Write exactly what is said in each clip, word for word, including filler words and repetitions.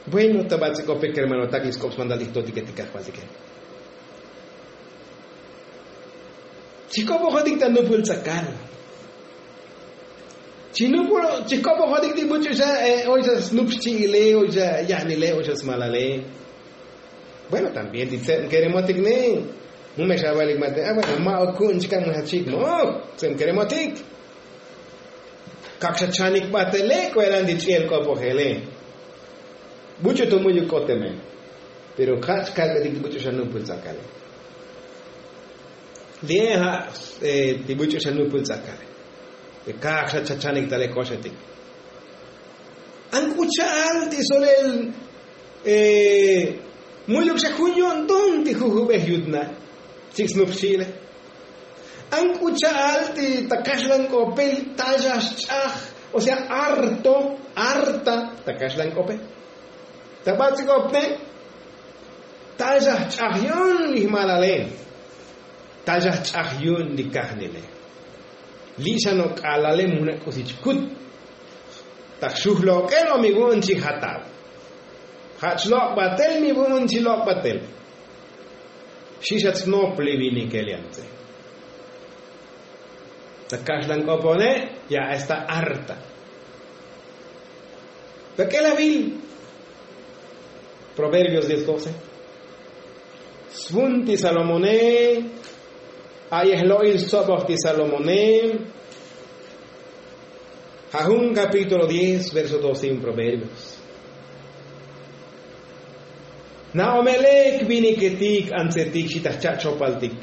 Bueno, ta bats'ikope kermanotak li sk'op smandal ijtotike ti kajvaltike. Chik'opojotik ta nupul tz'akal. Chinupul chik'opojotik ti buch'u xa oy xa snup xchi'ile, oy xa yajnile, oy xa smalale. Bueno, también ti tseb keremotik ne. Mu me xa valik mate a bueno, ma' okun chika' mu xa chik mo'oj. Tseb keremotik. Kak xa chanik batele k'uelan ti ch'i'el k'opojele. Buch'u to mu'yuk k'oteme. Pero ja' chkalbetik ti buch'u xa nupul tz'akale. Li'e ja' ti buch'u xa nupul tz'akale. Kak xa chachanik tale koxetik. An k'u cha'al ti solel mu'yuk xa jun yo'nton ti jujubej yutna'. Chik snup xchi'ile. An k'u cha'al ti ta kaxlan k'ope tal xa xch'aj, o sea, harto, harta ta kaxlan k'ope. Ta bats'ik'opne tal xa jch'aj yu'un li jmalale. Tal xa jch'aj yu'un li kajnele. Li' xa no' k'alale mu na' k'usi chkut. Ta jxuj lok'el o mi vu'un chi jatal. Ja' chlok' batel mi vu'un chi lok' batel. Xi' xa tsnop li vinike li antse. Ta kaxlan k'opone ya está harta. Tak'el avil. Proverbios diez doce. Svun ti salomone. A'yej lo'il stsoboj ti salomone. Ja' jun kapítulo diez verso doce in proverbios. Na'omelej viniketik antsetik xi ta jcha' chopaltik.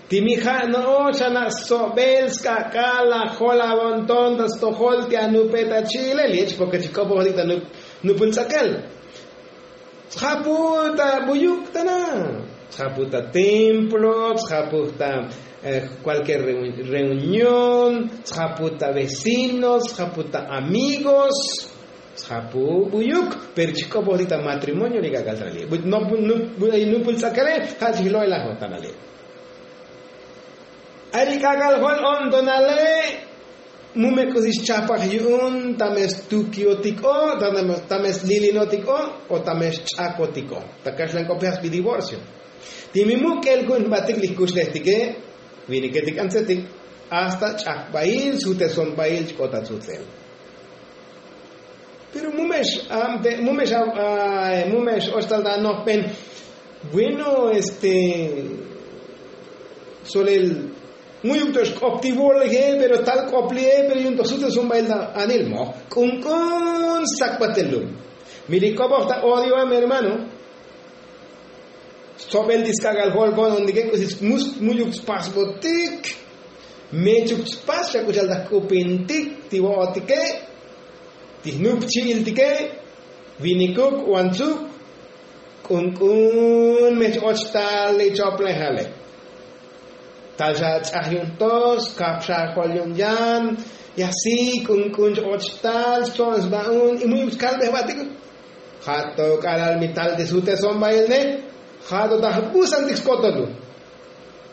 Ti mi ja' no'ox ana' stsobel sk'ak'al ajol avonton ta stojol ti anupe ta chi'ile li' chpoke chik'opojotik ta nupul tz'akal. Tsjapu ta buyuk ta na'. Tsjapu ta templo, tsjapu ta kualkier reunión, tsjapu ta vecinos, tsjapu ta amigos. Tsjapu buyuk. Pero chik'opojotik ta matrimonio li k'ak'al ta na' li' nupul tz'akale. Ja' chijlo'elajot ta na' li'. Ari k'ak'al jol o'ntonale. Mu me k'usi xchapaj yu'un ta me stukiotik o ta me slilinotik o ta me xch'akotik o ta kaxlan k'ope ja' sbi divorcio. Ti mi muk' k'el ku'un jbatik li jkuxlejtike viniketik antsetik. Hasta ch'akbail sutesonbail chk'ot ta tzutzel. Pero mu me x'ab te mu me x'ab mu me x'och tal ta anojben. Bueno este solel mu'yuk to xk'op ti vole pero tal k'op li'e pero yu'un to sutesonbail ta anil moj k'unk'un stsakbatel lum. Mi li k'opoj ta odioe mi hermano. Stsobel ti sk'ak'al jol ko'nontike k'usi mu'yuk spasbotik. Mechuk spas xa k'u cha'al ta jk'upintik ti vo'otike ti jnuk chi'iltike. Vinikuk o antsuk k'unk'un me ch-och tal li choplejale. Tal xa ch'aj yu'un to skap xa jol yu'un yan. Y asi k'unk'un ch-och tal stso'on sba'un y mu'yuk chkalbej jbatik. Ja' to k'alal mi tal ti sutesonbailne. Ja' to ta jbusantik skotol lu.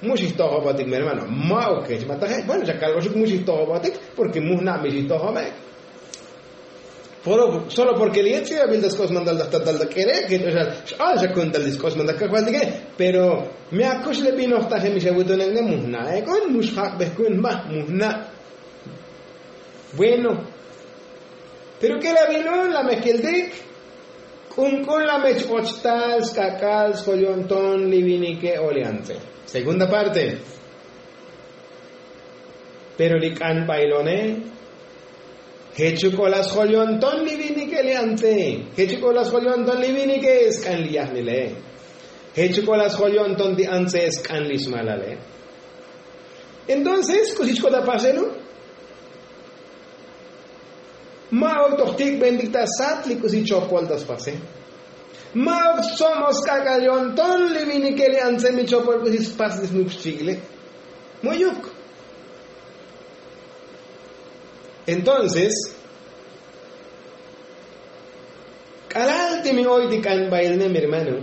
Mu xijtojobotik mi hermano ma'uk kech ma taje bueno xa kalboxuk mu xijtojobotik. Porke mu jna' mi xijtojobe. Solo porke li' ye' ts'ibabil ta sk'op smandal ta jtatal ta k'ere' kech o xa x'al xa ku'un tal ti sk'op smandal kajvaltike. Pero mi akuxlebinoj taje mi xa vutonekne mu jna'ek'on mu xjak'bej ku'un jba mu jna'. Bueno. Pero k'el avilun la me jkiltik. K'unk'un la me ch-och tal sk'ak'al sjoyo'nton li vinike o li antse. Segunda parte. Pero li k'anbailone jechuk o la sjoyo'nton li vinike li antse. Jechuk o la sjoyo'nton li vinike sk'an li yajnile. Jechuk o la sjoyo'nton ti antse sk'an li smalale. Entonces k'usi chk'ot ta pasenu. Ma'uk to jtikbentik ta sat li k'usi chopol ta spase. Ma'uk tsomo sk'ak'al yo'nton li vinike li antse mi chopol k'usi spas li snup xchi'ile. Mu'yuk. Entonces k'alal ti mi oy ti k'anbailne mi hermano.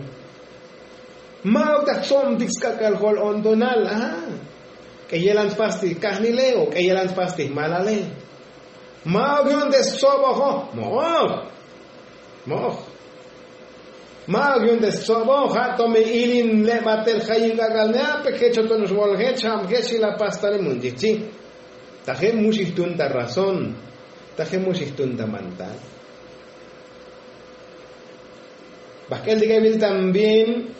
Ma'uk ta jtsobtik sk'ak'al jol o'ntonal a k'eyelan spas ti kajnile o k'eyelan spas ti jmalale. Ma'uk yu'un te stsobojo. Mo'oj. Mo'oj. Ma'uk yu'un te stsobojo ja' to me ilin le' batel jayin k'ak'al ne a pe jech otonox bol jech ja'am jech xi la pastale mun chijchi. Taje' mu xijtun ta razón. Taje' mu xijtun ta mantal. Bajk'el ti k'ebil también.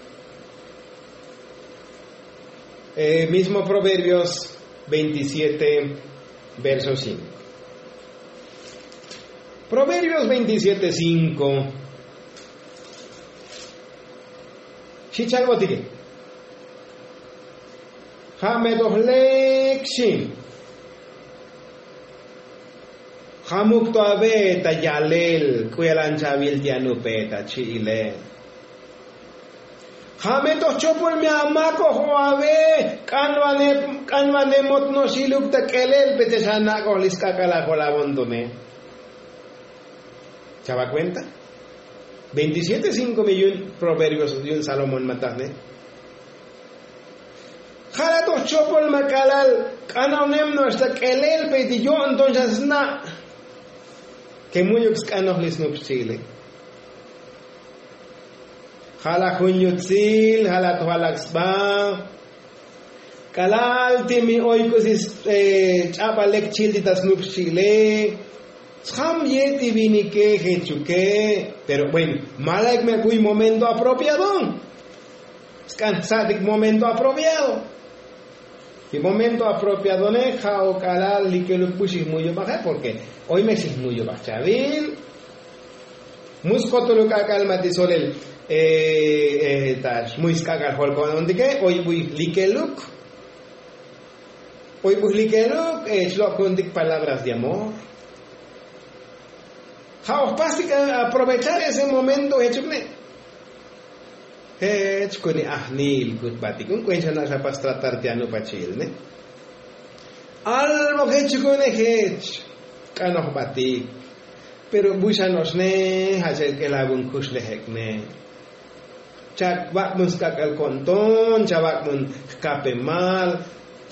Mismo proverbios veintisiete verso cinco. Proverbios veintisiete cinco. Xi chalbotike. Ja' me toj lek xi. Jamuk to ave ta yalel k'u yalan chavil ti anupe ta chi'ile. Ja' me toj chopol me amakoj o ave k'anvane k'anvane motnoxiluk ta k'elel pe te xa nak'oj li sk'ak'al ajol avontone. Chava kuenta. Veintisiete cinko me yu'un proverbios yu'un salomón matajne. Ja' la toj chopol ma k'alal k'anonem no'ox ta k'elel pe ti yo'nton xa sna'. Ke mu'yuk sk'anoj li snup xchi'ile. Ja' la jun yutsil ja' la toj alak sba. K'alal ti mi oy k'usi ch'abal lek chil ti ta snup xchi'ile. Sjam ye' ti vinike jechuke. Pero bueno, malaik me buy momento apropiado. Sk'an jsa'tik momento apropiado. Y momento apropiadone ja' o k'alal likeluk bu xijmuyubaje. Porque oy me xijmuyubaj chavil. Mu skotoluk k'ak'al ma ti solel ta xmuy sk'ak'al jolko'onontike oy buy likeluk. Oy buy likeluk. Chlo'kuntik palabras de amor. Ja' oj pastik aprovechar ese momento jechuk ne'. Jech kuni ajnil kutbatik un kuen xa na' xa pas tratar ti anupachi'il ne'. Albo jech chukune jech k'anojbatik. Pero bu xa no'ox ne' ja' cha'il k'elabun kuxlejek ne'. Chavak'bun sk'ak'al ko'nton chavak'bun jkapemal.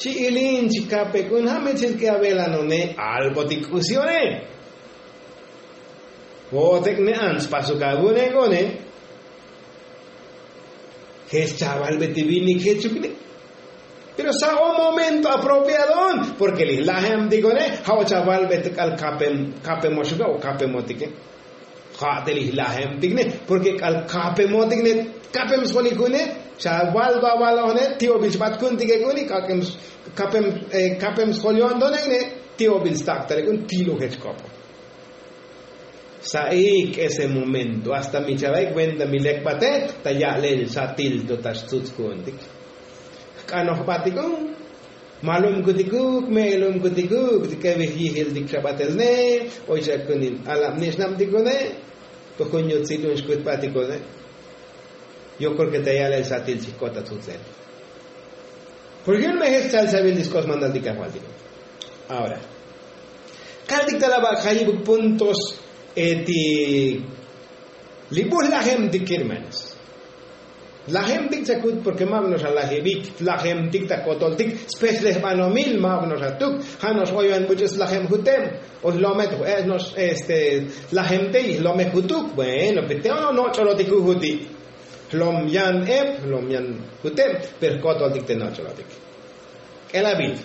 Chi'ilin chikapek'un ja' me chilk'e avelanone. Albotik k'usione. Vo'otek ne ants pasuk avune k'one. Jech chavalbe ti vinik jechuk ne'. Pero sa' o momento apropiadon. Porke li jlajemtikone ja' o chavalbe ti k'al kapemoxuke o kapemotike. Ja' te li jlajemtik ne'. Porke k'al kapemotik ne' kapem sjolikune. Chaval vavalojne ti'obil xbatkuntikek'uni. Kapem sjolyontonek ne' ti'obil staktalek'un tilu jech kopo. Sa'ik ese momento hasta mi chavaik venta mi lekbate ta ya'lel satil to ta xtzutzku'untik. Jk'anojbatikun. Malumkutikuk me'elumkutikuk ti kevej yijiltik xabatelne. Oy xa kunin alabnixnabtikune. Pujun yutzilun xkutbatikune. Yo kreo ke ta ya'lel satil chijk'ot ta tzutzel. Porke yu'un me jech chal chabil ti sk'os mandaltik kajvaltik. Ahora kaltik ta laba' jayibuk puntos eti li bu jlajemtik kermanos. Lajemtik chakut porke ma' vino'ox alajibik lajemtik ta kotoltik. Spechlejbanomil ma' vino'ox atuk ja' no'ox oy van buch'u slajem juteb. O jlome' to ju'e' no'ox este lajemte y jlome' jutuk. Bueno pe te ono' noch'olotik jujuti'. Jlom yan eb jlom yan juteb. Pero jkotoltik te noch'olotik. K'elabil.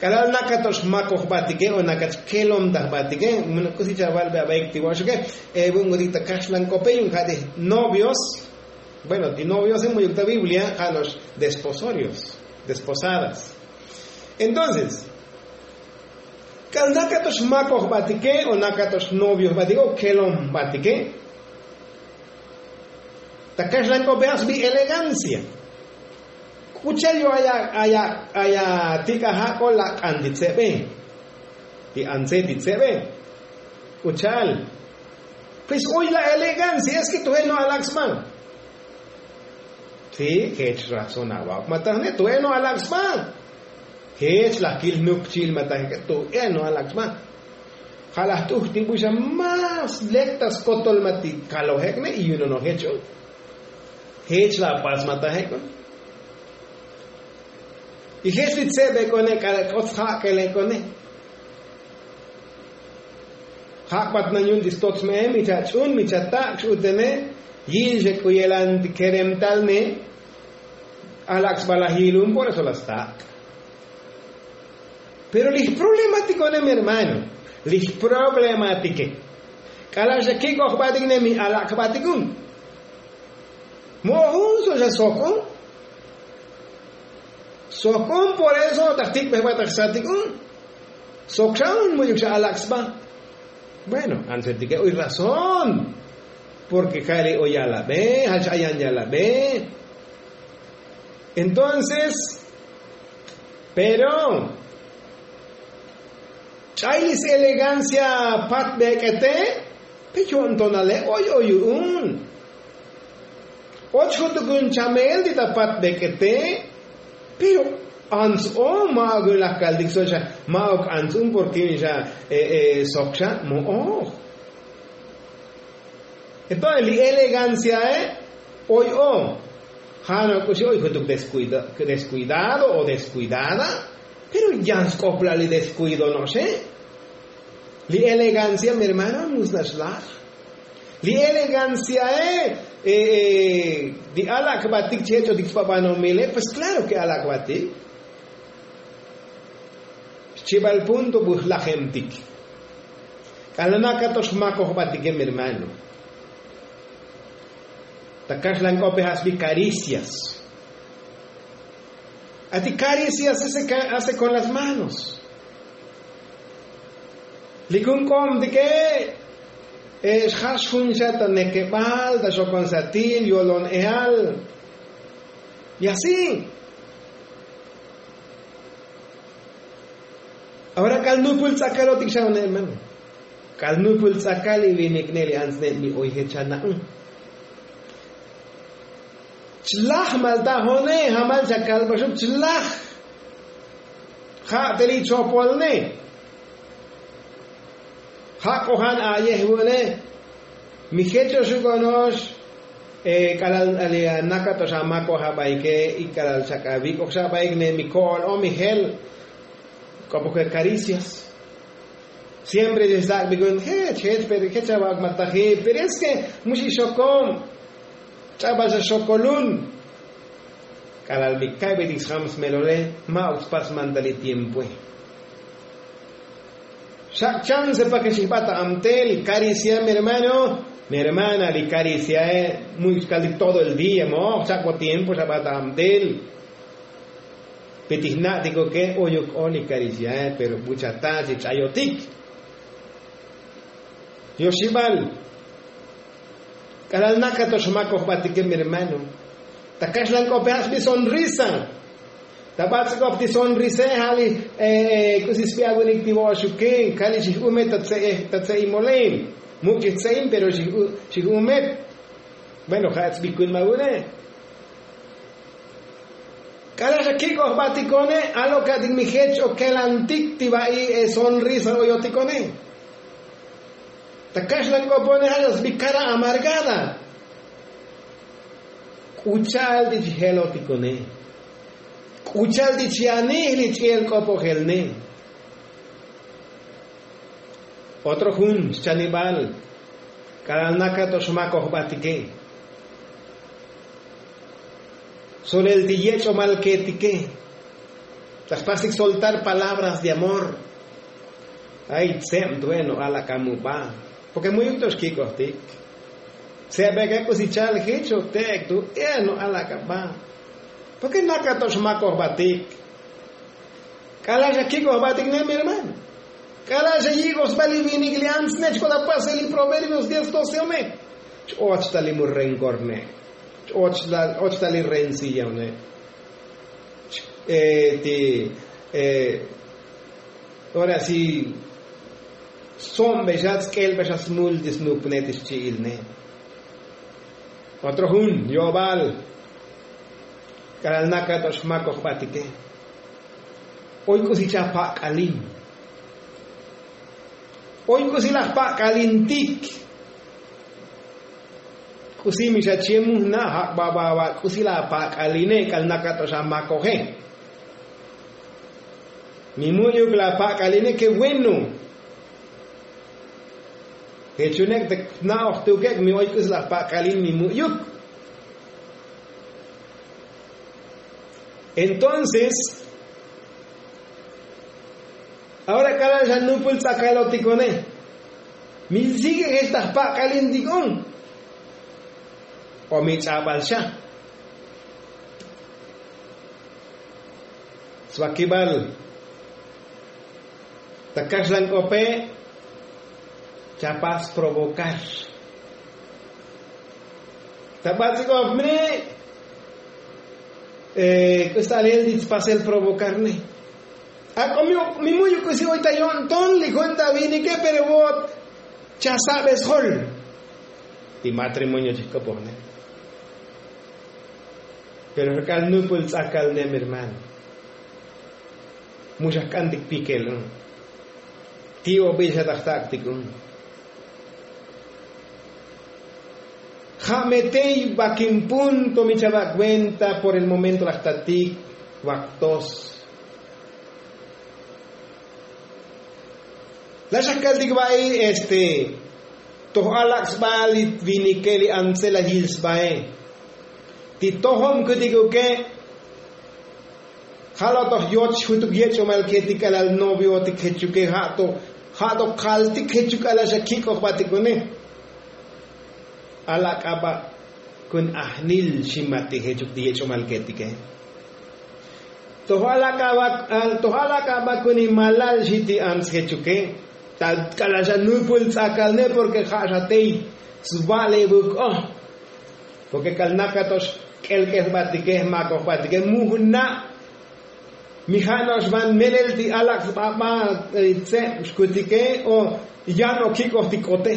K'alal nakato'ox makoj jbatike o nakato'ox kelom ta jbatike. Muna' k'usi chaval be abaik ti vo'oxuke. Ebu'un kutik ta kaxlan k'ope yu'un ja' ti novios. Bueno ti noviose mu'yuk ta biblia ja' no'ox desposorios, desposadas. Entonces k'al nakato'ox makoj jbatike o nakato'ox novio jbatike o kelom jbatike. Ta kaxlan k'ope ja' sbi elegancia. K'u cha'al yo' aya' aya' aya' tik'aja' k'o lak'an ti tzebe. Ti antze ti tzebe. K'u cha'al. Pues oy la elegancia es ke to je' no' alak sba. Si jech razón avauk matajne to je' no' alak sba. Jech laj kil jnuk chi'il matajik to je' no' alak sba. Ja' laj t'uj ti bu xa más lek ta skotol ma ti kalojek ne' y yu'un ono' jech un. Jech la pas matajek un. Y jech li tzebek'one k'al k'ot sjak'elek'one. Jak'bat nañun ti stots me'e mi chach'un mi chatak' x'utene. Yil xek'uyelan ti keremtal ne. Alak' sba laj yilun por eso la stak'. Pero lij problematiko ne mi hermano, lij problematike. K'ala' xa kik'oj batik ne mi alak' batik un. Mo'oj un so xa sok un. Sok un por eso taj tik'bej bataj satik un. Sok xa un mu'yuk xa alak' sba. Bueno, ansetike oy razón. Porke ja'li oy yalabe ja'li xa ayan yalabe. Entonces, pero ch'ay li selegancia pat bek'ete. Pe yo'ntonale oy oy yu'un. Och jutuk un chamel ti ta pat bek'ete. Pero ants o ma'ok un laj kaltik so xa. Ma'ok ants un porke xa sok xa mo'oj. Entonces li eleganciae oy o. Ja' no k'uxi oy jutuk descuidado o descuidada. Pero yan sk'oplal li descuido no'oxe. Li elegancia mi hermano mus nax laj. Li eleganciae li alak'batik chi jech'otik sba banomile pues klaro ke alak'batik. Xchibal punto bu jlajemtik. K'alal nakatox makojbatike mi hermano. Ta kaxlan k'ope ja' sbi karicias. Ati karicias se hace con las manos. Likun k'o'omtike xjax jun xa ta nekebal ta xokon satil yolon eal. Y así. Ahora k'al nupul tz'akalotik xa une hermano. K'al nupul tz'akal li vinik ne li ants ne mi oy jech ana'un. Chlaj malta jone jamal chakalbaxuk chlaj. Ja' te li chopol ne. Ja' k'ojan a'yej vu'une. Mi jechoxuk ono'ox. K'alal li anakato'ox amakoj abaike y k'alal chak avik'oj xa abaik ne mi ko'ol o mi jel. K'opoj ke karicias. Siempre xesak'bik un jech jech pero jech ava'ok ma taji pero es ke mu xixokom. Ch'abal xa xokolun. K'alal mi ka'betik sjam smelole ma'ok spas mantal li tiempoe. Xak' chance pa ke xijbat ta amtel karicia mi hermano. Mi hermana li kariciae mu'yuk xkaltik todo el día mo'oj chak' bo tiempo xabat ta amtel. Pitij na'tikoke oyuk o li kariciae pero buchata chi ch'ayotik. Yoxibal. K'alal nakatox makojbatike mi hermano. Ta kaxlan k'ope ja' sbi sonrisa. Ta bats'ik'op ti sonrise ja' li k'usi sbi avunik ti vo'oxuke kali xij umet ta tse'imole. Muk' xij tse'im pero xij umet. Bueno ja' sbi kun ma vune. K'alal xa kik'oj batikone alo' ka'tik mi jech o kelantik ti va'i sonrisa oyotikone. Ta kaxlan k'opone ja' xa sbi kara amargada. K'u cha'al ti chi jelotikone. K'u cha'al ti chi anij li ch'i'el k'opojel ne. Otro jun xchanibal. K'alal nakatox makojbatike solel ti yech'omal ketike. Ta jpasik soltar palabras de amor. Ay tse'em tu'e no alak' amuba. Porke mu'yuk to'ox kik'ojtik. Tse'beke k'usi cha'al jich o te'ek tu'e no alak' aba. Porke nakato'ox makojbatik. K'alal xa kik'oj batik ne mi hermano. K'alal xa yik'oj sba li vinik li ants ne chk'ot apasel li proverbios diez doce one. Ch-och ta li mu renkor ne. Ch-och ta li rencilla one. Ti ora si sombexat sk'elbexat smul ti snupne ti xchi'il ne. Otro jun yo'bal. K'alal nakato'ox makojbatike oy k'usi cha pak'alin. Oy k'usi laj pak'alintik. K'usi mi xa chie mujna' ja' baba k'usi la pak'aline k'al nakato'ox amakoje. Mi mu'yuk la pak'aline ke bueno. Jechunek' te na'oj tuke' mi oy k'uslaj pak'alil mi mu'yuk. Entonces ahora k'alal xa nupul tz'akalotikone, mi sigue jech ta jpak'alintik un o mi ch'abal xa? Svakibal ta kaxlan k'ope chapas provocar. Ta bats'ik'op mne' k'usta alel ti tspasel provocar ne. Ak'o mi mu'yuk k'usi oy ta yo'nton li jun ta vinike pero vo'ot chasa'be sjol. Ti matrimonio chijk'opoj ne. Pero jk'al nupul tz'akal ne mi hermano, mu xa jk'antik pikel un. Ti obil xa ta jtak'tik un. Ja' me tey vakin punto mi chava' kuenta por el momento laj tatik vaktos. La xa kaltik va'i este toj alak' sba li vinike li antse la yil sbae. Ti tojom kutikuke ja' lo' toj yoch jutuk yech'umal ketik k'alal noviotik jechuke ja' to ja' to kaltik jechuk k'alal xa kik'oj batik une. Alak' aba' kun ajnil ximatik jechuk ti yech'umal ketike. Toj alak' aba' toj alak' aba' kun imalal xi ti ants jechuke. Ta k'alal xa nupul tz'akal ne porke ja' xa tey sva'lebuk o porke k'al nakato'ox k'elk'el jbatike jmakoj jbatike mu jna'. Mi ja' no'ox van melel ti alak' sba ba tseb xkutike o yan o kik'oj ti k'ote.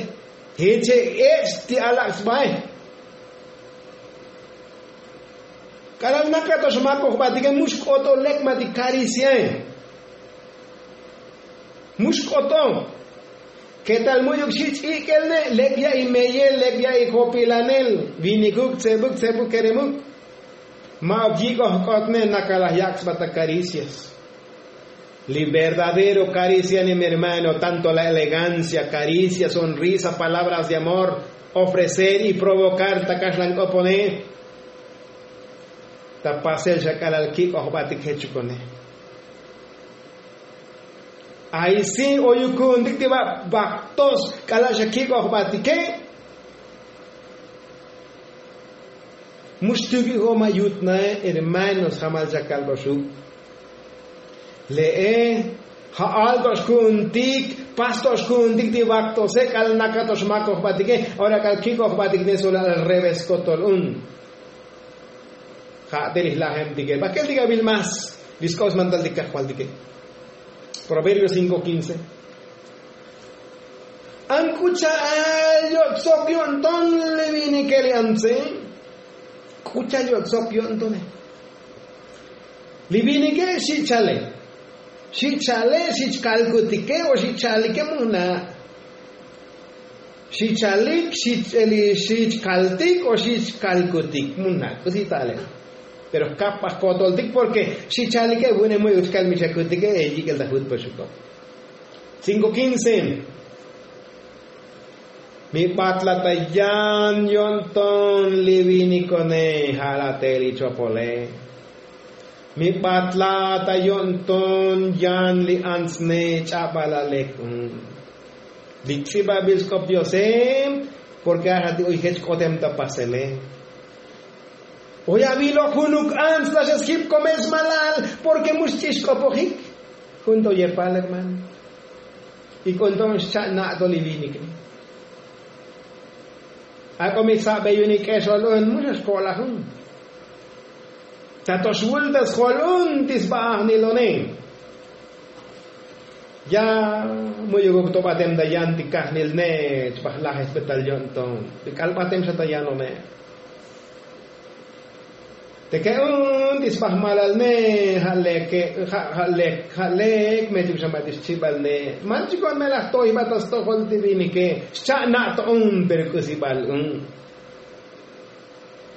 Jeche ech' ti alak' sbae. K'alal nakato'ox makoj jbatike mu xk'oto lek ma ti kariciae. Mu xk'oto. Ketal mu'yuk xi ch'ik'el ne' lek ya'i meyel lek ya'i jopilanel vinikuk tsebuk tsebuk keremuk. Ma'uk yik'oj k'ot ne' nakalaj yak' sba ta karicias. Li verdadero karicia ni mi hermano tanto la elegancia karicia sonrisa palabras de amor ofrecer y provocar ta kaxlan k'opone. Ta pasel xa k'alal kik'oj batik jechukone. Ay si oyuk ku'untik ti ba' baktos k'alal xa kik'oj batike. Mu xtuki' jo' ma' yut nae hermanos jamal xa kalboxuk. Le'e ja'al to' xku'untik pas to' xku'untik ti baktose k'al naka to' xmakoj batike. Ora k'al kik'oj batik ne solal al revés kotol un. Ja' te li jlajemtike bakel ti gabil más li sk'op smantal ti kajvaltike. Proverbio cinko quince. An k'u cha'al yo'tsok yo'nton li vinike li antse. K'u cha'al yo'tsok yo'ntone. Li vinike xi' chale xi' chale xi' chkalkutike o xi' chalike mu jna'. Xi' chalik xi' chkaltik o xi' chkalkutik mu jna' k'usi ta'ale. Pero jkapaj kotoltik porke xi' chalike vu'une mu'yuk chkal mi chakutike e yik'el ta jut paxuto. Cinko quince. Mi batla ta yan yo'nton li vinikone ja'al a te li chopole. Mi batla ta yo'nton yan li antsne ch'abal a lek un. Li tz'ibabil sk'op diose. Porke axa ti oy jech k'otem ta pasele. Oy avilo' junuk ants la xa sjip komel smalal porke mu xch'ixk'opojik. Jun to yepal hermano. Y k'unto'on xcha' na' to li vinik. Ak'o mi sabe yu'un ik'exol un mu xa xko'laj un. Ta to xvul ta sjol un ti sba ajnilone. Ya mu'yukuk to batem ta yan ti kajnil ne chba jlaj esbetal yo'nton ti k'al batem xa ta yanone. Teke un ti sba jmalal ne ja' leke ja' lek ja' lek me chuk xa ma' ti xchibal ne man chikon me laj toy jba ta stojol ti vinike. Xcha' na' to un pero k'usi bal un.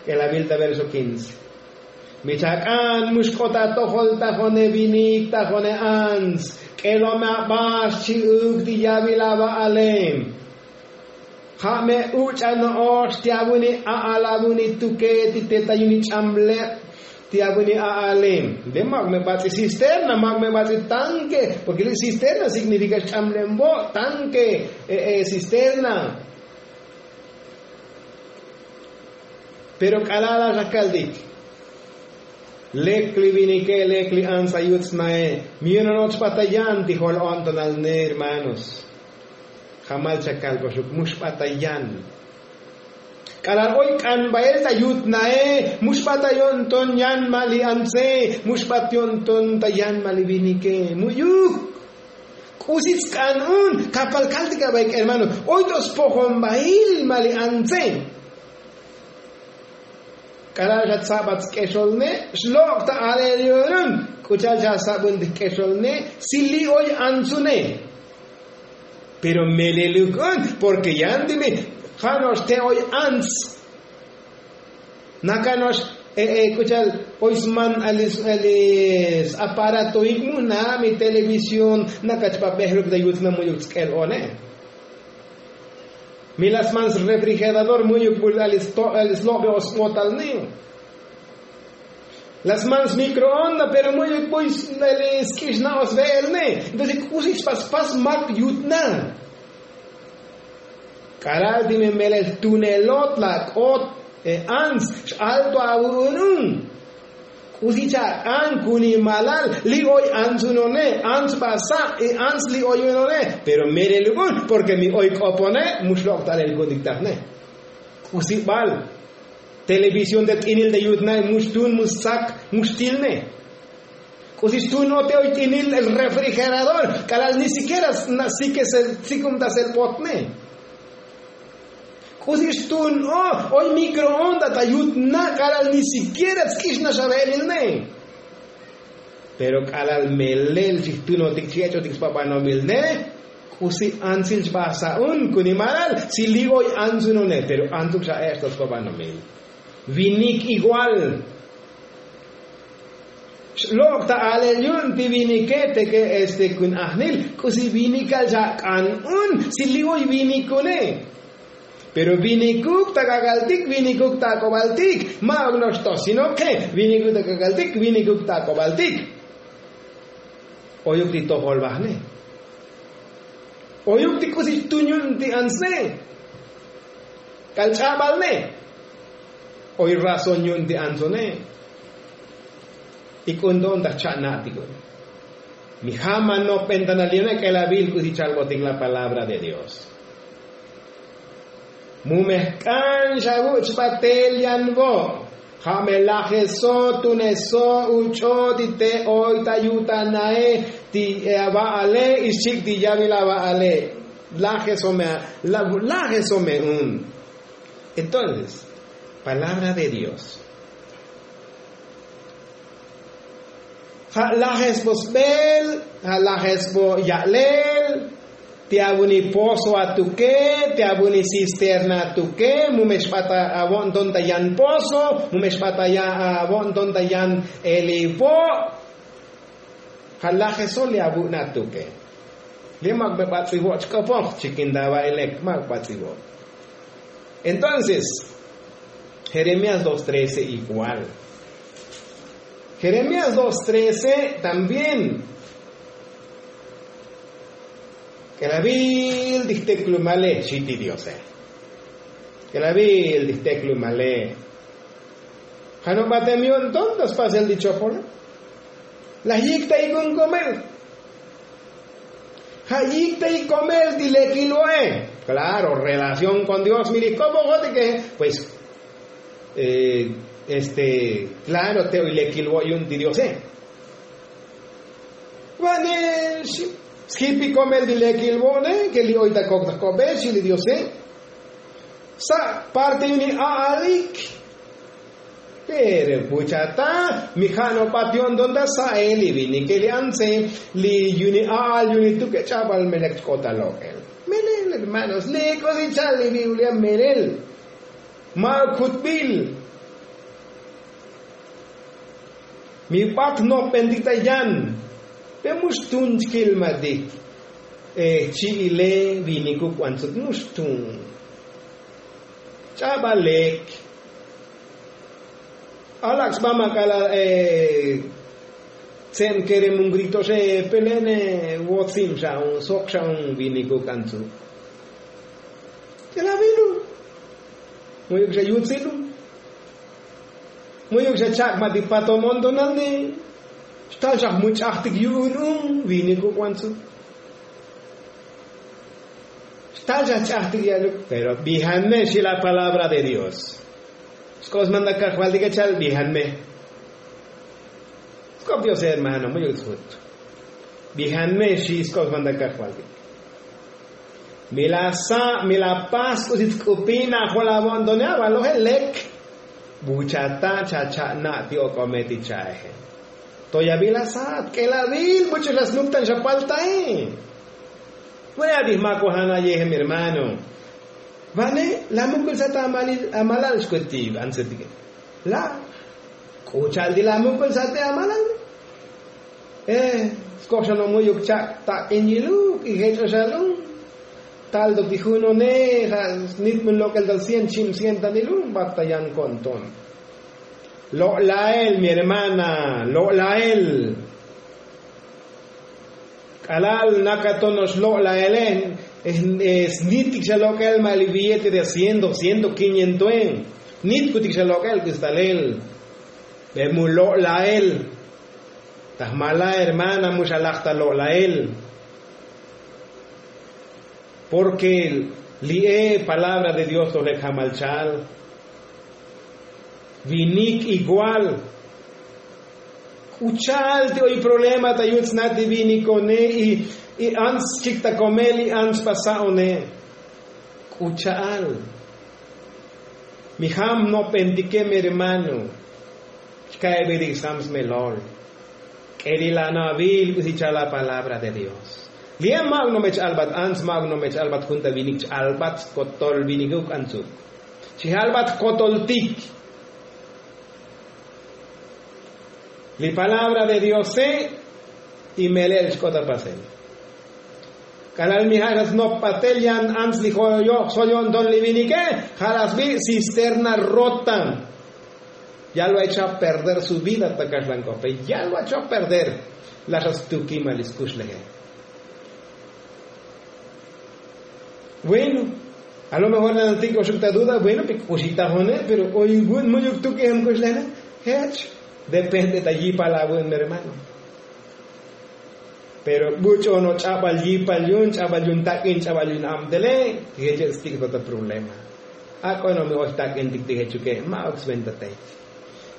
K'elabil ta verso quince. Mi chak'an mu xk'ot atojol ta jone vinik ta jone ants. K'elome aba xchi'uk ti yabil ava'ale. Ja' me uch'a no'ox ti avuni a'al avuni tuke ti te ta yuni ch'amleb ti avuni a'ale. De mak me bats'i cisterna, mak me bats'i tanke, porke li' cisterna signifika xch'amlem vo' tanke. Cisterna. Pero k'alal a xakaltik lek li vinike lek li antsa yut snae. Mi yononoch bata yan ti jol o'ntonal ne hermanos. Jamal chakal boxuk mux bata yan. K'alal oy k'an bael ta yut nae mux bata yo'nton yan ma li antse mux bat yo'nton ta yan ma li vinike mu'yuk. K'usi tsk'an un kapal kaltik a baik hermano. Oy to spojon bail ma li antse. K'alal xa tsabat sk'exol ne xlok' ta alel yu'un un. K'u cha'al xa sabun ti jk'exol ne si li' oy antsu ne. Pero meleluk un porke yan ti mi ja' no'ox te' oy ants. Naka no'ox k'u cha'al oy sman ali s-aparatoik mu na mi televisión. Naka chpabejruk ta yut na mu'yuk tsk'el one. Mi la sman srefrigerador mu'yuk bul ali slobe o sbotal niu. La sman smicroonda pero mu'yuk buy sk'ixna o sve'el ne. Entonces k'usi chpaspas mak yut na. K'alal ti me melel tunelot la k'ot ants x'alto avu'un un. K'usi cha'ak'an kunimalal li' oy antsuno ne ants ba sa' ants li' oyuno ne. Pero mereluk un porke mi oy k'opone mu xlok' ta alel ku'untik taj ne. K'usi bal televisión te t'inil te yut na mu xtun mu stsak mu xtil ne. K'usi xtun o te oy t'inil el refrigerador k'alal ni sikiera sna' sikesel sikumtasel bot ne. K'usi xtun o oy mikroonda ta yut na k'alal ni sikiera tsk'ixnax ave'elil ne. Pero k'alal melel chijtunotik chijech'otik spabanomil ne. K'usi antsil chbasa un kunimalal si li' oy antsuno ne pero antsuk xa ech' to spabanomil. Vinik igual xlok' ta alel yu'un ti vinike teke este kun ajnil k'usi vinikal xa k'an un si li' oy vinikune. Pero vinikuk ta k'ak'altik vinikuk ta ak'obaltik. Ma'uk no'ox to sino ke vinikuk ta k'ak'altik vinikuk ta ak'obaltik. Oyuk ti tojol bajne. Oyuk ti k'usi xtun yu'un ti antsne. K'al ch'abal ne. Oy razón yu'un ti antsone. Ik'un to'on ta jcha'na'tik un. Mi ja' ma nopbentanal yu'une k'elavil k'usi chalbotik la palabra de dios. Mu me jk'an xa vuch' batel yan vo'. Ja' me lajeso tuneso uch'o ti te oy ta yutanae ti ava'ale ixchik ti yavil ava'ale. Lajeso me lajeso me un. Entonces palabra de dios. Ja' lajes bo sbel ja' lajes bo ya'lel. Ti avuni pozo atuke ti avuni cisterna atuke mu me xbat avo'nton ta yan pozo mu me xbat avo'nton ta yan elivo'. Ja' lajeso li avu'na atuke. Li mak me bats'ivo' chk'opoj chikin ta ava'i lek mak bats'ivo'. Entonces jeremías dos trece igual. Jeremías dos trece también. K'elavil ti jteklumale xi ti diose. K'elavil ti jteklumale. Ja' no batem yu'un ton ta spasel ti chopole. Laj yik ta ik'un komel. Ja' yik ta ikomel ti lekil vo'e. Klaro relación kon dios mi li jk'opojotike. Pues este klaro te oy lekil vo' yu'un ti diose. Va'ne xi sjipi komel ti lekil vo'ne ke li oy ta kok ta jk'obe xi li diose. Sa' parte yu'un a'alik. Pero puchata mi ja' no bat yo'nton ta sa'e li vinike li antse li yu'un a'al yu'un tuk ech'abal melek chk'ot ta lok'el. Melel hermanos li k'usi cha'al li biblia melel. Ma'uk jutbil. Mi bat nopbentik ta yan. Pe mu xtun chkilmatik. Jchi'ile vinikuk bantzuk mu xtun. Ch'abal lek. Alak' sba ma k'alal tse'en kere munkrik to xe pelene. Wotzim xa un sok xa un vinik uk antsu. K'elavilu. Muyuk xa yutzilu. Muyuk xa chak' ma ti pato montonal ni. Xtal xa jmuch'ajtik yu'un un vinik uk antsu. Xtal xa ch'ajtik yaluk pero bijan me xi la palabra de dios. Sk'op smantak kajvaltik echal bijan me. Sk'op dios hermano muyuk tsjut. Bijan me xi sk'op smantak kajvaltik. Mi la sa' mi la pas k'usi tsk'upina jol avo'ntone avaloje lek. Buchata' chacha'na' ti ok'ome ti cha'eje. Toyavil asat k'elavil buch'u la snuktan xa paltae. Vaya' ti jmakojana' yejem hermano. Vane la mukul sat amalal xkuti antsetike. La k'u cha'al ti la mukul sat te amalal. Skoj xa no' muyuk chak' tak'in yiluk y jech'o xa lun. Tal to ti junone ja' snitmun lok'el ta cien chim cien tanilun bat ta yan ko'nton. Lo'lael mi hermana lo'lael. K'alal nakatono'ox lo'laele snitik xa lok'el ma' li billete de ciento ciento quinientoe. Nitkutik xa lok'el k'usi talel. Be mu lo'lael. Ta jmala hermana mu xalaj ta lo'lael. Porke li'e palabra de dios to lek jamal cha'al. Vinik igual. K'u cha'al ti oy problema ta yut sna' ti vinikone. Y ants chik ta komel y ants pa sa'one. K'u cha'al. Mi jam nopentike mi hermano. Xka'ebetik sjam smelol. K'elil anavil k'usi cha'al la palabra de dios. Li'e ma'uk no me ch'albat ants ma'uk no me ch'albat jun ta vinik ch'albat skotol vinikuk antsuk. Chi jalbat jkotoltik. Li palabra de diose. Y mele'el xk'ot apasel. K'alal mi ja' xa snop batel yan ants li joyo'j soyo'nton li vinike. Ja' la sbi' cisterna rota. Ya lo ha echo a perder su vida ta kaxlan k'ope ya lo ha echo a perder. La xa stuki ma li skuxleje. Bueno, a lo mejor nanatik oxuk ta duda bueno pi k'uxi tajone pero oy vu'un muyuk tuki jem kuxlejne. Jech depende ta yipal avu'un mi hermano. Pero buch'ono ch'abal yipal yu'un ch'abal yu'un tak'in ch'abal yu'un abtele. Jeche' stik' to ta problema. Ak'ono mi oy tak'intik ti jechuke ma'uk sventa tech.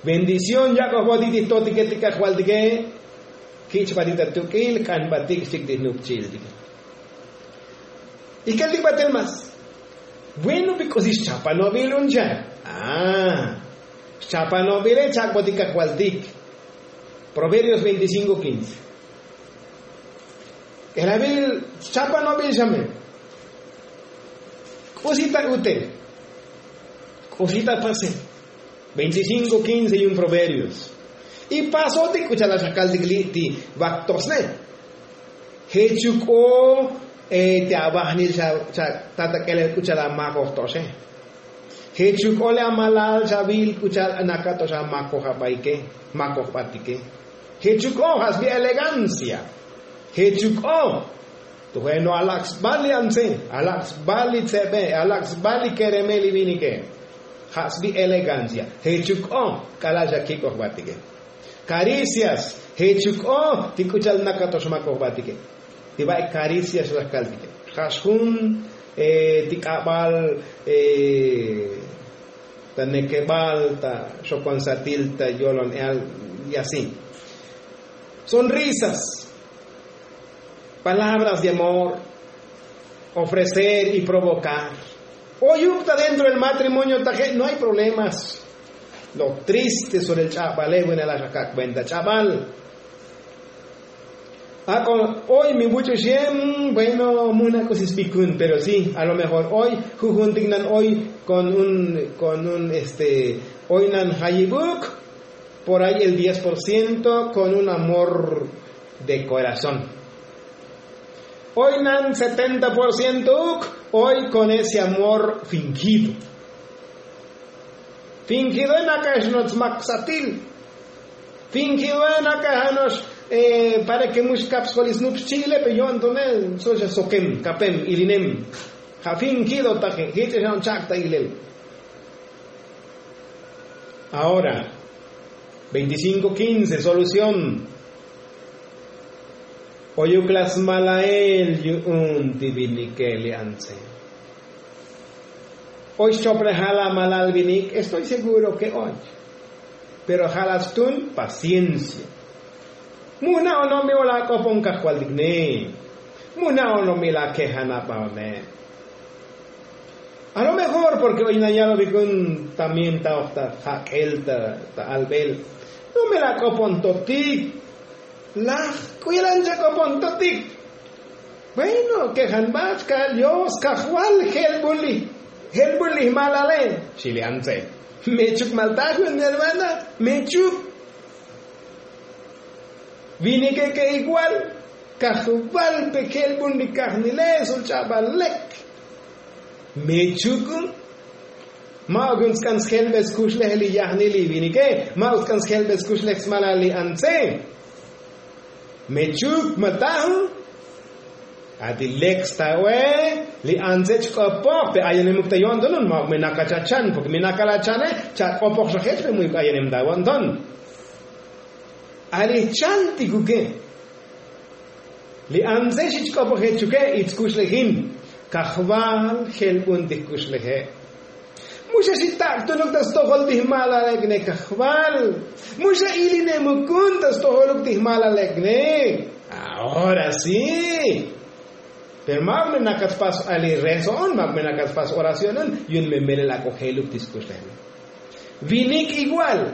Bendición yak'ojbotik ti jtotike ti kajvaltike. Kich'batik ta tuk'il k'anbatik xchik ti jnupchiltike. Ikeltik batel mas. Bueno bi k'usi xchapanobil un cha. Xchapanobile chak'botik kajvaltik. Proverbios veinticinko quince. K'elabil xchapanobil xame. K'usi ta utel. K'usi ta pasel. Veinticinko quince yu'un proverbios. Y pasotik k'u cha'al la xakaltik li' ti vaktosne. Jechuk o ti avajnil xa ta ta k'elel k'u cha'al amakoj to'oxe. Jechuk o li amalal xa vil k'u cha'al anakato'ox amakoj abaike. Makoj batike. Jechuk o ja' sbi elegancia. Jechuk o. Tujeno alak' sbal li antse alak' sbal li tsebe alak' sbal li kereme li vinike. Ja' sbi elegancia. Jechuk o k'alal xa kik'oj batike. Karicias. Jechuk o ti k'u cha'al nakato'ox makoj batike. Ti va'ik karicias xa kaltike. Ja' xjun ti k'abal ta nekebal ta xokon satil ta yolon eal. Y asi. Sonrisas. Palabras de amor. Ofrecer y provocar. Oyuk ta dentro del matrimonio taje' no hay problemas. Lo triste sobre el ch'abale' vunela' xakak' venta ch'abal. Ak'o oy mi vuch'u xiem. Bueno munak k'usi sbikun pero si a lo mejor oy jujuntik nan oy kon un kon un este oy nan jayibuk. Por ay el diez por ciento kon un amor de korazón. Oy nan setenta por ciento uk oy kon ese amor fingido. Fingidoe naka'ex no'ox smak satil. Fingidoe naka'ex ano'ox para ke mu xkap sjol isnup xchi'ile pe yo'ntone. So'ox sokem kapem ilinem. Ja' fingido taje jich'ex ano'ox chak ta ilel. Ahora veinticinco quince solución. Oyuk la smalael yu'un ti vinike li antse. Oy xchoplejal amalal vinik estoy seguro ke och. Pero ja' la stun paciencia. Mu jna' ono'ob mi o la ak'opon kajvaltik ne. Mu jna' ono'ob mi la kejanab a one. A lo mejor porke oy nayalovikun también ta oj ta jak'el ta albel. No me la ak'opontotik. Laj k'u yalan chak'opontotik. Bueno kejanbat ka'al dios kajval jelbul li jelbul li jmalale. Xi li antse. Mechuk malta jun hermana. Mechuk. Vinike ke igual kajval pe jelbul li kajnile sul ch'abal lek. Mechuk. Ma'uk yu'un tsk'an sjelbel skuxlej li yajnil li vinike. Ma'uk tsk'an sjelbel skuxlej smalal li antse. Mechuk mata'u. Ati lek sta oe. Li antse chk'opoj pe ayenemuk ta yo'ntonun ma'uk me nakal chachan porke me nakal achane. Chak'opoj xa jech pe mu'uk ayenem ta yo'nton. Ali jchantikuke. Li antse xi chk'opoj jechuke. Itskuxlejin kajval jelbun ti jkuxleje. Mu xa xi tak'tunuk ta stojol ti jmalalekne kajval. Mu xa ilinemukun ta stojoluk ti jmalalekne. Ahora si. Pero ma'uk me nakat spas ali rezo'on ma'uk me nakat spas oracionon. Yu'un me melel ak'o jeluk ti skuxlejne. Vinik igual.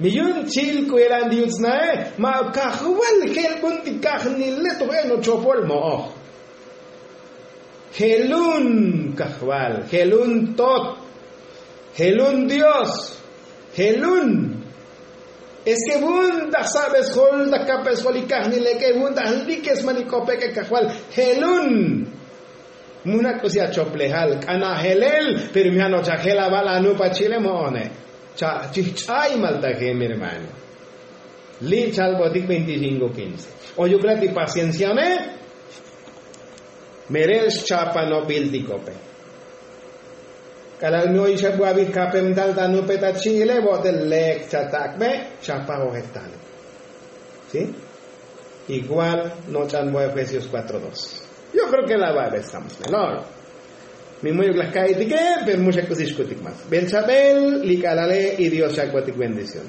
Mi yu'un chil k'u yelan ti yut snae. Ma'uk kajval jelbun ti kajnile toj eno chopol mo'oj. Jelun kajval jelun tot. Jelun dios. Jelun. Es ke vun ta jsa'be sjol ta kape sjol li kajnileke vun ta jlikesman li k'opeke kajval. Jelun. Mu jna' k'usi achoplejal k'ana' jelel. Pero mi jano'och ajel aval anup achi'ile mo'one. Chajch'ay maltaje mi hermano. Li' chalbotik veinticinco quince. Oyuk la ti pacienciaone. Mere' xchapanobil ti kope. K'alal mi oy xabwabij kapem tal ta nupe ta chi'ile bo'tel lek chatak'be. Chapaj ojel tane. Si. Igual noch'an bo efesios cuatro dos. Yo kreo ke la va'be estamos melor. Mi mu'yuk laj ka'itike. Pero mu xa k'usi xkutik mas bel chabel li k'alale. Y dios chak'botik bendición.